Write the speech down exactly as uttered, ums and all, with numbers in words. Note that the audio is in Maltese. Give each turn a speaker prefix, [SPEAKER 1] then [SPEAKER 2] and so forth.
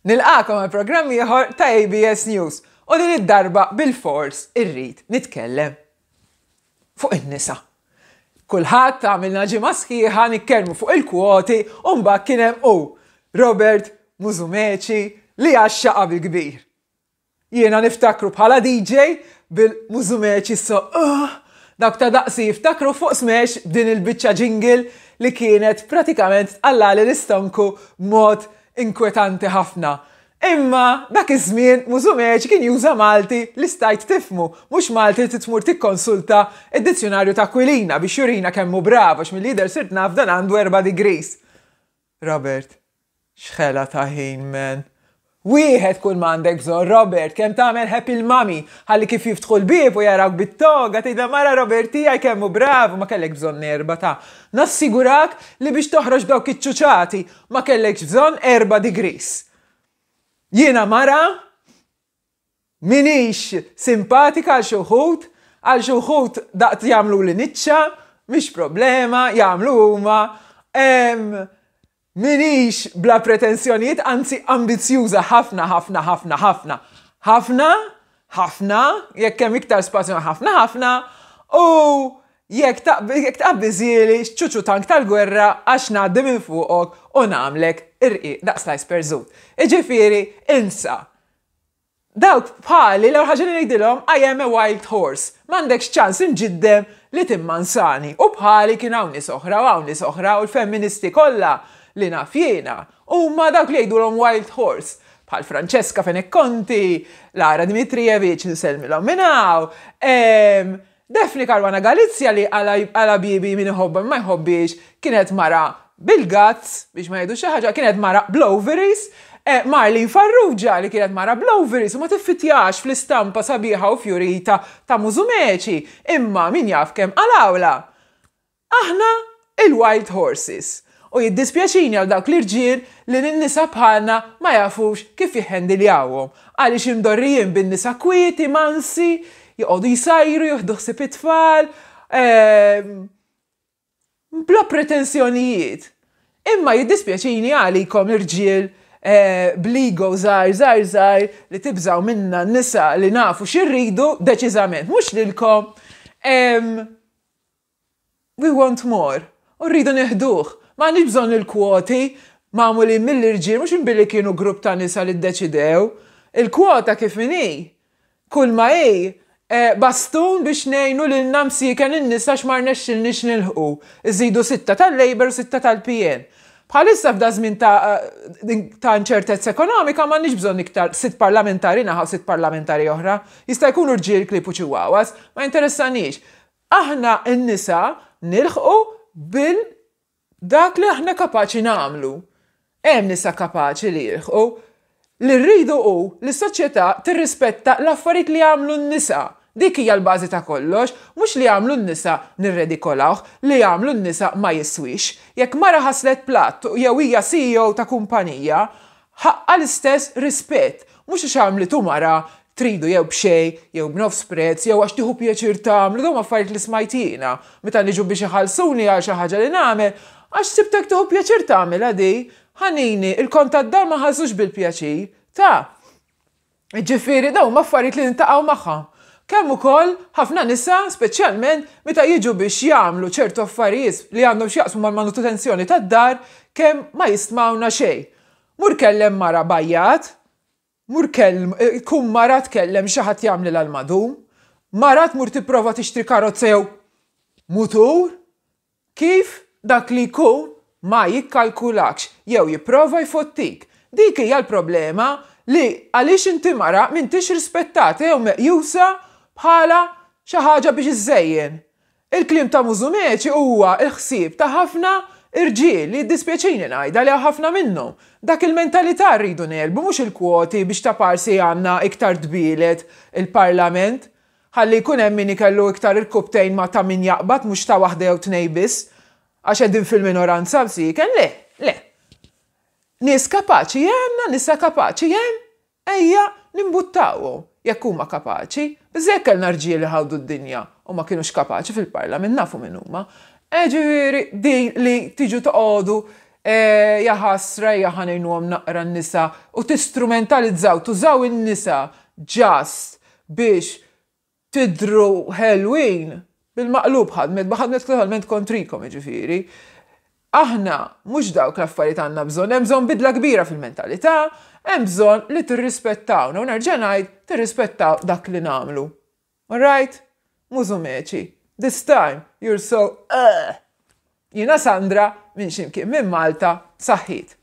[SPEAKER 1] Nilqagħkom għal programm ieħor ta' A B S News u din id-darba bil-fors irrid nitkellem fuq in-nisa. Kulħadd, għamilna ġimgħa sħiħa nitkellmu fuq il-kwoti u mbagħad kien hemm u Robert Musumeci li għaxxaqa bil-kbir. Jiena niftakru bħala D J bil-Musumeci, so uh, dak ta' daqsi jiftakru fuq Smash din il-biċċa jingle li kienet pratikament tqallali l-istonku mod inkwetanti ħafna. Imma dak iż-żmien Musumeci kien juża Malti li stajt tifhmu, mhux Malti li tmur tikkonsulta id-dizzjonarju ta' Aquilina biex jurina kemm hu bravo, x'mill-lider sirt naf dan għandu erba' degrees. Robert, x'ħela ta' ħin, man. Wieħed kull m'għandek bżonn, Robert, kemm tagħmel happy l-mami, ħalli kif jiftħu l-bieb u jarawk bit-toga, tgħidha mara Robert tiegħi kemm hu bravu, ma kellek bżonn erba ta'. Nassigurak li biex toħroġ dawk iċ-ċuċati ma kellekx bżonn erba' degrees. Jiena mara, minix simpatika għal xi wħud, għal xi wħud daqt jagħmlu li niċċa, mhix problema, jagħmlu huma. Minix bla pretensjonijiet, anzi ambizjuża ħafna, ħafna, ħafna, ħafna. Ħafna, ħafna, jekk hemm iktar spazju ħafna, ħafna, u jekk taqbiżieli ċuċu tank tal-gwerra għax ngħaddi minn fuqok u nagħmlek irqiq daqs slice perżut. Iġifieri, insa. Dawk bħali, l ħaġa li ngħidilhom, "I am a wild horse." M'għandekx ċans imġiddem li timmansani. U bħali kien hawn nies oħra u hawn nies oħra u l-femministi kollha li naf jiena huma dawk li jgħidulhom wild horse bħal Francesca Fenech Conti, Lara Dimitrijevic, nsellmilhom minn hawn, Daphne Caruana Galizia li għala bibi min iħobba ma jħobbix kienet mara bil-guts, biex ma jgħidu xi ħaġa, kienet mara bl-ovaries, eh, Marlene Farrugia li kienet mara bl-ovaries u ma tiffitjax fl-istampa sabiħa u fjurita ta' Musumeci, imma min jaf kemm għalawla. Aħna il-Wild Horses. U jiddispjaċini għal dawk l-irġiel li n-nisa bħalna ma jafux kif jihhendiljawhom. Għaliex imdorrijin bin-nisa kwieti, mansi, joqogħdu jsajru, jieħdu ħsieb it-tfal, ehm, bla pretensjonijiet. Imma jiddispjaċini għalikom irġiel eh, bl-ego żgħar, żgħar, żgħar li tibżaw minna n-nisa li nafu x'irridu deċiżament, mhux lilkom. We want more. U rridu neħduh. Ma għandix bżonn il-kwoti magħmuli mill-irġiel, mhux billi kienu grupp ta' nisa li ddeċidew. Il-kwota kif inhi? Kull ma hi eh, bastun biex ngħinu lil msieken in-nisa x'ma rnexxilniex nilħqu. Iżidu sitta tal-Labour u sitta tal-P N. Bħalissa f'da żmien ta' ta' inċertezza ekonomika m'għandniex bżonn iktar sitt parlamentari naħa u sitt parlamentari oħra. Jista' jkunu rġiel, klieb u chihuahuas, ma interessanix. Aħna n-nisa nilħqu bil dak li aħna kapaċi nagħmlu. Hemm nisa kapaċi li jilħqu. Li rridu hu li s-soċjetà tirrispetta l-affarijiet li jagħmlu n-nisa. Dik hija l-bażi ta' kollox, mhux li jagħmlu n-nisa nirredikolawh, li jagħmlu n-nisa ma jiswix. Jekk mara ħaslet platt jew hija C E O ta' kumpanija, ħaqqa l-istess rispett. Mhux għax għamlitu mara tridu jew b'xej, jew b'nofs prezz, jew għax tieħu pjaċir tagħmlu, dawn affarijiet li smajt jiena. Meta niġu biex iħallsuni għal xi ħaġa li nagħmel, għax sibtek tieħu pjaċir tagħmel di, ħanini, il-kont tad-dar ma ħallsux bil-pjaċir. Ta' ġifieri, dawn affarijiet li niltaqgħu magħha. Kemm ukoll ħafna nisa, speċjalment meta jiġu biex jagħmlu ċertu affarijiet li għandhom x'jaqsmu mal-manutenzjoni tad-dar, kemm ma jistmawna xejn. Mur kellem mara bajjat, mur kellem, kum mara tkellem xi ħadd jagħmel l-madum, mara tmur tipprova tixtri karozza jew mutur, kif dak li jkun ma jikkalkulakx jew jipprova jfottik. Dik hija l-problema li għaliex inti mara m'intix rispettata jew meqjusa bħala xi ħaġa biex iżejjen. Il-kliem ta' Musumeci huwa il-ħsieb ta' ħafna irġiel li dispjaċini ngħidha li ħafna minnhom. Dak il-mentalità rridu negħlbu, mhux il-kwoti biex ta' parsi għandna iktar tbielet il-parlament. Ħalli jkun hemm min ikellu iktar il-kubtejn ma ta' min jaqbad, mhux ta' waħda jew tnej biss. Għax qegħdin fil-minoranza msiken, le, le. Nies kapaċi għandna, nisa kapaċi hemm, ejja nimbuttawhom jekk huma kapaċi. Biżejjed kellna rġiel li ħawdu d-dinja u ma kienux kapaċi fil-parlament, nafu min huma. Ġifieri din li tiġu toqogħdu E, jaħasra ħa ngħinuhom naqra n-nisa u tistrumentalizzaw, tużaw in-nisa just biex tidru ħelwin, bil-maqlub ħadmet, ħadmet totalment kontrikom, ġifieri. Aħna mhux dawk l-affarijiet għandna bżonn, hemm bżonn bidla kbira fil-mentalità, hemm bżonn li tirrispettawna u nerġa' ngħid tirrispettaw dak li nagħmlu. Alright? Mużumeċi. This time you're so uh. Jiena Sandra minn ximkien minn Malta, saħħit.